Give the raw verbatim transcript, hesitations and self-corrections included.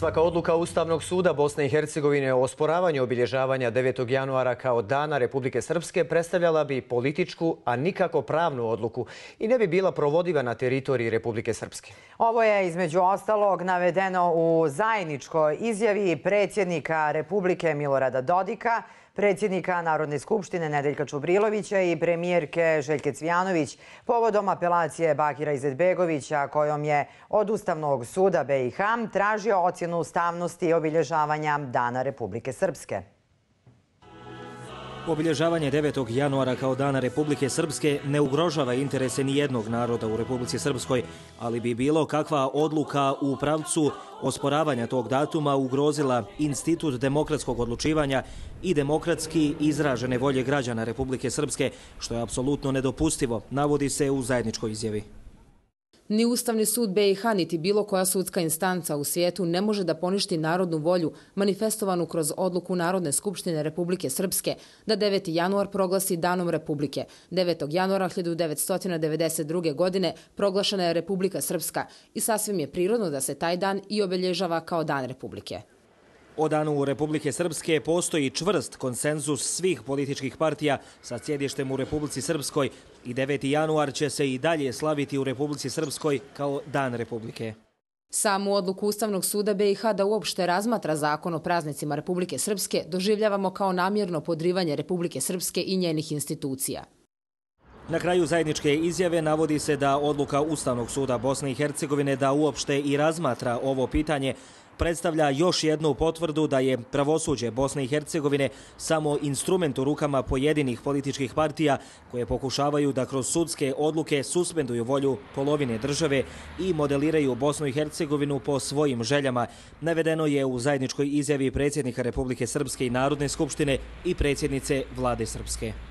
Svaka odluka Ustavnog suda Bosne i Hercegovine o osporavanju obilježavanja devetog januara kao Dana Republike Srpske predstavljala bi političku, a nikako pravnu odluku i ne bi bila provodiva na teritoriji Republike Srpske. Ovo je između ostalog navedeno u zajedničkoj izjavi predsjednika Republike Milorada Dodika, predsjednika Narodne skupštine Nedeljka Čubrilovića i premijerke Željke Cvijanović povodom apelacije Bakira Izetbegovića kojom je od Ustavnog suda B i H tražio ocjenu ustavnosti obilježavanja Dana Republike Srpske. Obilježavanje devetog januara kao Dana Republike Srpske ne ugrožava interese nijednog naroda u Republici Srpskoj, ali bi bilo kakva odluka u pravcu osporavanja tog datuma ugrozila institut demokratskog odlučivanja i demokratski izražene volje građana Republike Srpske, što je apsolutno nedopustivo, navodi se u zajedničkoj izjavi. Ni Ustavni sud B i H niti bilo koja sudska instanca u svijetu ne može da poništi narodnu volju manifestovanu kroz odluku Narodne skupštine Republike Srpske da deveti januar proglasi Danom Republike. devetog januara hiljadu devetsto devedeset druge. godine proglašena je Republika Srpska i sasvim je prirodno da se taj dan i obilježava kao Dan Republike. O Danu Republike Srpske postoji čvrst konsenzus svih političkih partija sa sjedištem u Republici Srpskoj i deveti januar će se i dalje slaviti u Republici Srpskoj kao Dan Republike. Samu odluku Ustavnog suda B i H da uopšte razmatra zakon o praznicima Republike Srpske doživljavamo kao namjerno podrivanje Republike Srpske i njenih institucija. Na kraju zajedničke izjave navodi se da odluka Ustavnog suda Bosne i Hercegovine da uopšte i razmatra ovo pitanje predstavlja još jednu potvrdu da je pravosuđe Bosne i Hercegovine samo instrument u rukama pojedinih političkih partija koje pokušavaju da kroz sudske odluke suspenduju volju polovine države i modeliraju Bosnu i Hercegovinu po svojim željama. Navedeno je u zajedničkoj izjavi predsjednika Republike Srpske i Narodne skupštine i predsjednice Vlade Srpske.